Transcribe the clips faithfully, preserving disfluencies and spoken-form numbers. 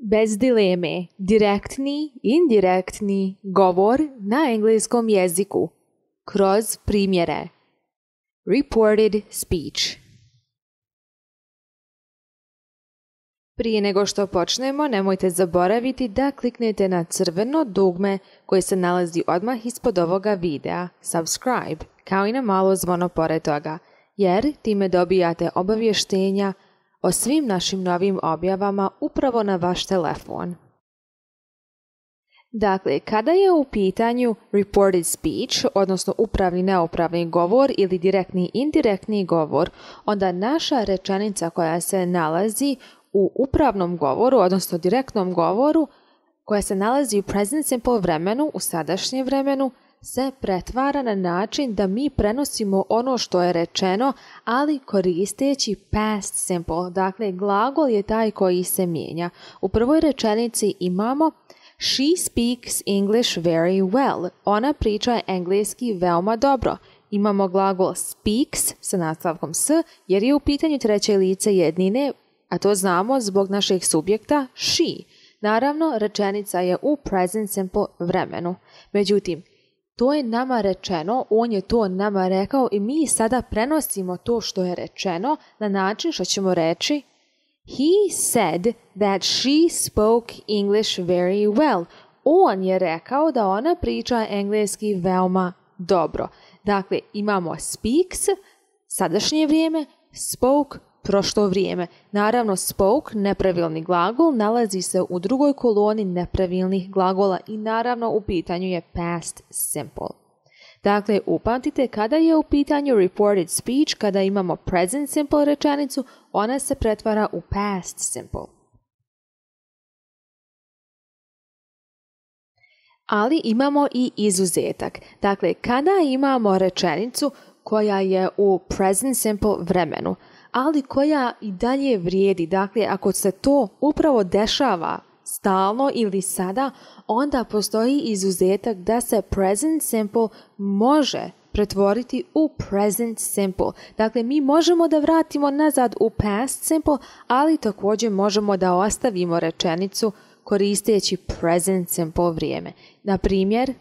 Bez dileme, direktni, indirektni govor na engleskom jeziku. Kroz primjere. Reported speech. Prije nego što počnemo, nemojte zaboraviti da kliknete na crveno dugme koje se nalazi odmah ispod ovoga videa, subscribe, kao i na malo zvono pored toga, jer time dobijate obavještenja o svim našim novim objavama upravo na vaš telefon. Dakle, kada je u pitanju reported speech, odnosno upravni neopravni govor ili direktni indirektni govor, onda naša rečenica koja se nalazi u upravnom govoru, odnosno direktnom govoru, koja se nalazi u present simple vremenu, u sadašnjem vremenu, se pretvara na način da mi prenosimo ono što je rečeno, ali koristeći past simple. Dakle, glagol je taj koji se mijenja. U prvoj rečenici imamo She speaks English very well. Ona priča engleski veoma dobro. Imamo glagol speaks sa nastavkom s, jer je u pitanju treće lice jednine, a to znamo zbog našeg subjekta she. Naravno, rečenica je u present simple vremenu. Međutim, to je nama rečeno, on je to nama rekao i mi sada prenosimo to što je rečeno na način što ćemo reći He said that she spoke English very well. On je rekao da ona priča engleski veoma dobro. Dakle, imamo speaks, sadašnje vrijeme, spoke, prošlo vrijeme. Naravno, spoke, nepravilni glagol, nalazi se u drugoj koloni nepravilnih glagola i naravno u pitanju je past simple. Dakle, upamtite, kada je u pitanju reported speech, kada imamo present simple rečenicu, ona se pretvara u past simple. Ali imamo i izuzetak. Dakle, kada imamo rečenicu koja je u present simple vremenu, ali koja i dalje vrijedi. Dakle, ako se to upravo dešava stalno ili sada, onda postoji izuzetak da se present simple može pretvoriti u present simple. Dakle, mi možemo da vratimo nazad u past simple, ali također možemo da ostavimo rečenicu koristeći present simple vrijeme. Na primjer,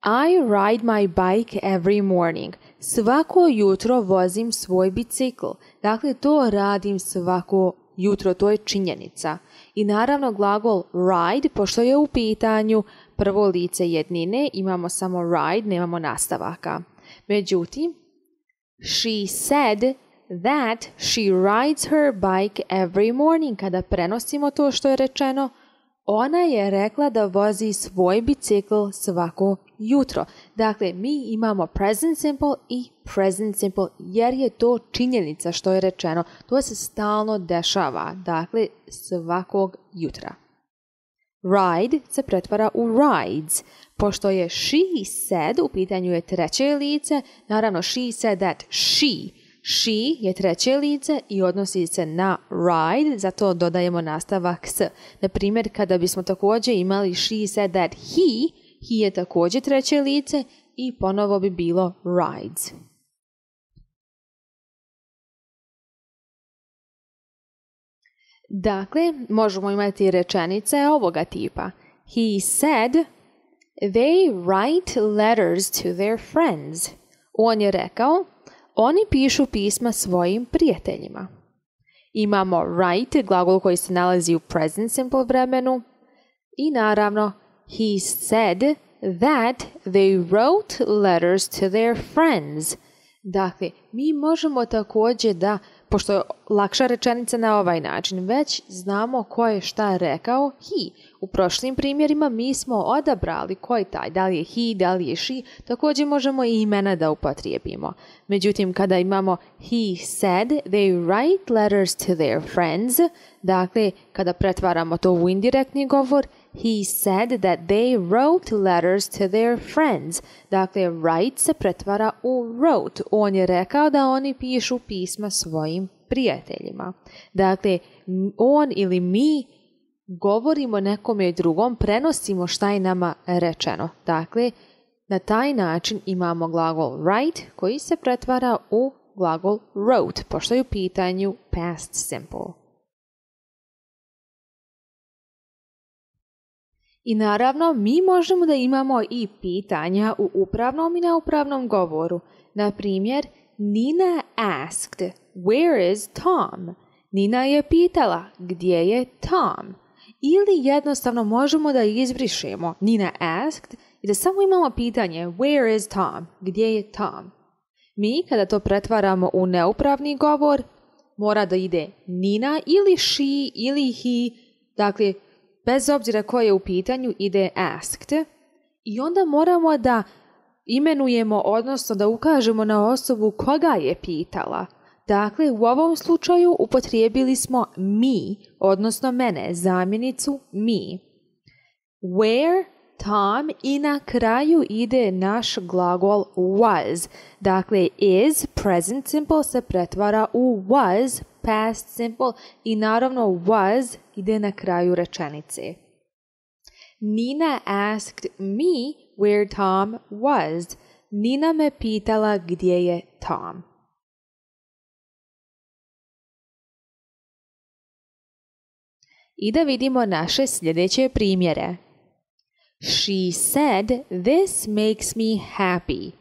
I ride my bike every morning. Svako jutro vozim svoj bicikl. Dakle, to radim svako jutro, to je činjenica. I naravno glagol ride, pošto je u pitanju prvo lice jednine, imamo samo ride, nemamo nastavaka. Međutim, she said that she rides her bike every morning. Kada prenosimo to što je rečeno, ona je rekla da vozi svoj bicikl svako jutro. Dakle, mi imamo present simple i present simple jer je to činjenica što je rečeno. To se stalno dešava, dakle, svakog jutra. Ride se pretvara u rides. Pošto je she said, u pitanju je treće lice, naravno she said that she She je treće lice i odnosi se na ride, zato dodajemo nastavak s. Na primjer, kada bismo također imali she said that he, he je također treće lice i ponovo bi bilo rides. Dakle, možemo imati rečenice ovoga tipa. He said, they write letters to their friends. On je rekao, oni pišu pisma svojim prijateljima. Imamo write, glagol koji se nalazi u present simple vremenu. I naravno, he said that they wrote letters to their friends. Dakle, mi možemo također da, pošto je lakša rečenica na ovaj način, već znamo ko je šta rekao he. U prošlim primjerima mi smo odabrali ko je taj, da li je he, da li je she, također možemo i imena da upotrijebimo. Međutim, kada imamo he said they write letters to their friends, dakle, kada pretvaramo to u indirektni govor, he said that they wrote letters to their friends. Dakle, write se pretvara u wrote. On je rekao da oni pišu pisma svojim prijateljima. Dakle, on ili mi govorimo nekome drugom, prenosimo šta je nama rečeno. Dakle, na taj način imamo glagol write koji se pretvara u glagol wrote, pošto je u pitanju past simple. I naravno, mi možemo da imamo i pitanja u upravnom i neupravnom govoru. Na primjer, Nina asked, where is Tom? Nina je pitala, gdje je Tom? Ili jednostavno možemo da izbrišemo Nina asked i da samo imamo pitanje, where is Tom? Gdje je Tom? Mi, kada to pretvaramo u neupravni govor, mora da ide Nina ili she ili he, dakle, bez obzira koje je u pitanju, ide asked. I onda moramo da imenujemo, odnosno da ukažemo na osobu koga je pitala. Dakle, u ovom slučaju upotrijebili smo me, odnosno mene, zamjenicu me. Where, Tom i na kraju ide naš glagol was. Dakle, is, present simple, se pretvara u was, past simple i naravno was ide na kraju rečenice. Nina asked me where Tom was. Nina me pitala gdje je Tom. I da vidimo naše sljedeće primjere. She said, this makes me happy.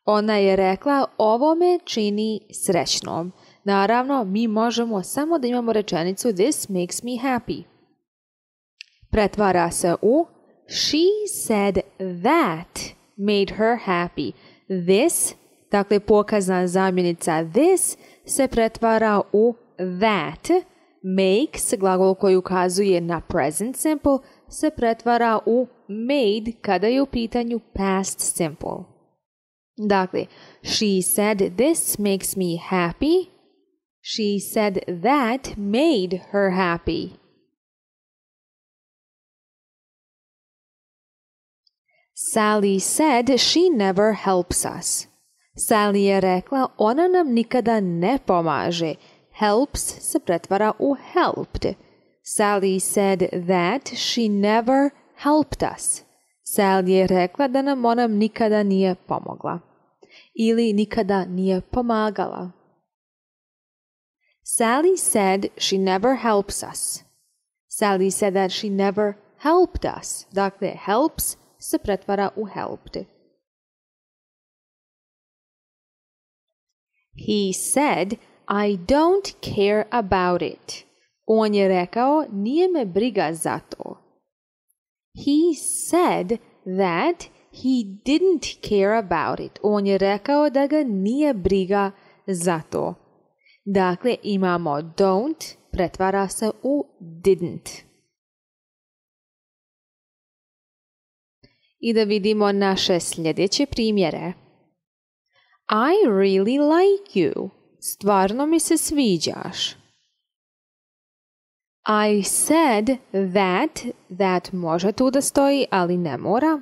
Ona je rekla, ovo me čini srećnom. Naravno, mi možemo samo da imamo rečenicu this makes me happy. Pretvara se u she said that made her happy. This, dakle pokazna zamjenica this, se pretvara u that. Makes, glagol koji ukazuje na present simple, se pretvara u made kada je u pitanju past simple. Dakle, she said this makes me happy. She said that made her happy. Sally said she never helps us. Sally je rekla, ona nam nikada ne pomaže. Helps se pretvara u helped. Sally said that she never helped us. Sally je rekla da nam ona nikada nije pomogla. Ili nikada nije pomagala. Sally said she never helps us. Sally said that she never helped us. Dakle, helps se pretvara u helped. He said, I don't care about it. On je rekao, nije me briga za to. He said that he didn't care about it. On je rekao da ga nije briga za to. Dakle, imamo don't, pretvara se u didn't. I da vidimo naše sljedeće primjere. I really like you. Stvarno mi se sviđaš. I said that, that može tu da stoji, ali ne mora.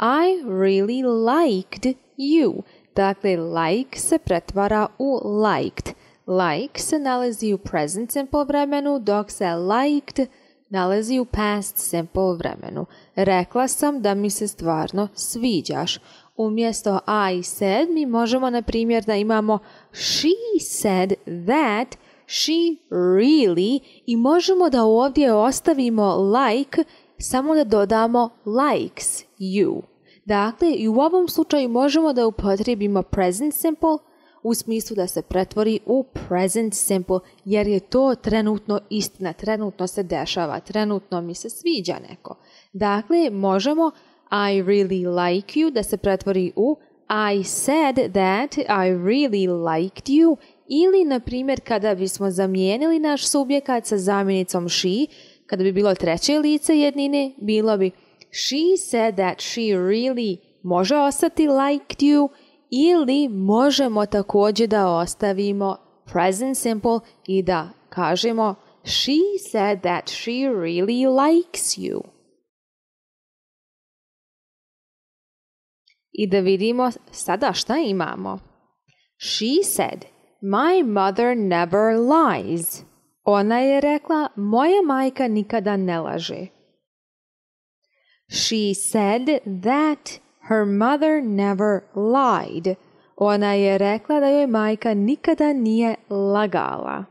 I really liked you. Dakle, like se pretvara u liked. Like se nalazi u present simple vremenu, dok se liked nalazi u past simple vremenu. Rekla sam da mi se stvarno sviđaš. Umjesto I said mi možemo na primjer da imamo she said that she really i možemo da ovdje ostavimo like samo da dodamo likes you. Dakle, i u ovom slučaju možemo da upotrijebimo present simple u smislu da se pretvori u present simple jer je to trenutno istina, trenutno se dešava, trenutno mi se sviđa neko. Dakle, možemo I really like you da se pretvori u I said that I really liked you ili, na primjer, kada bismo zamijenili naš subjekat sa zamjenicom she, kada bi bilo treće lice jednine, bilo bi she said that she really može ostati liked you ili možemo također da ostavimo present simple i da kažemo she said that she really likes you. I da vidimo sada šta imamo. She said, my mother never lies. Ona je rekla, moja majka nikada ne laže. She said that her mother never lied. Ona je rekla da joj majka nikada nije lagala.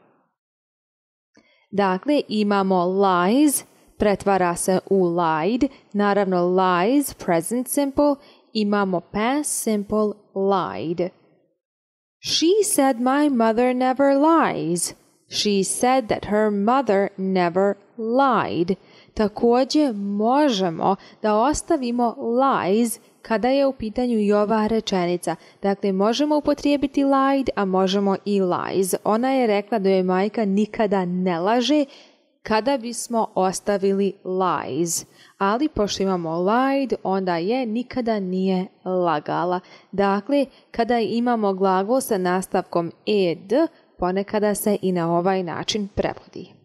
Dakle, imamo lies, pretvara se u lied. Naravno, lies, present simple, imamo past simple, lied. She said my mother never lies. She said that her mother never lied. Također možemo da ostavimo lies kada je u pitanju i ova rečenica. Dakle, možemo upotrijebiti lied, a možemo i lies. Ona je rekla da joj majka nikada ne laže kada bismo ostavili lies. Ali pošto imamo lied, onda je nikada nije lagala. Dakle, kada imamo glagol sa nastavkom ed, ponekada se i na ovaj način prevodi.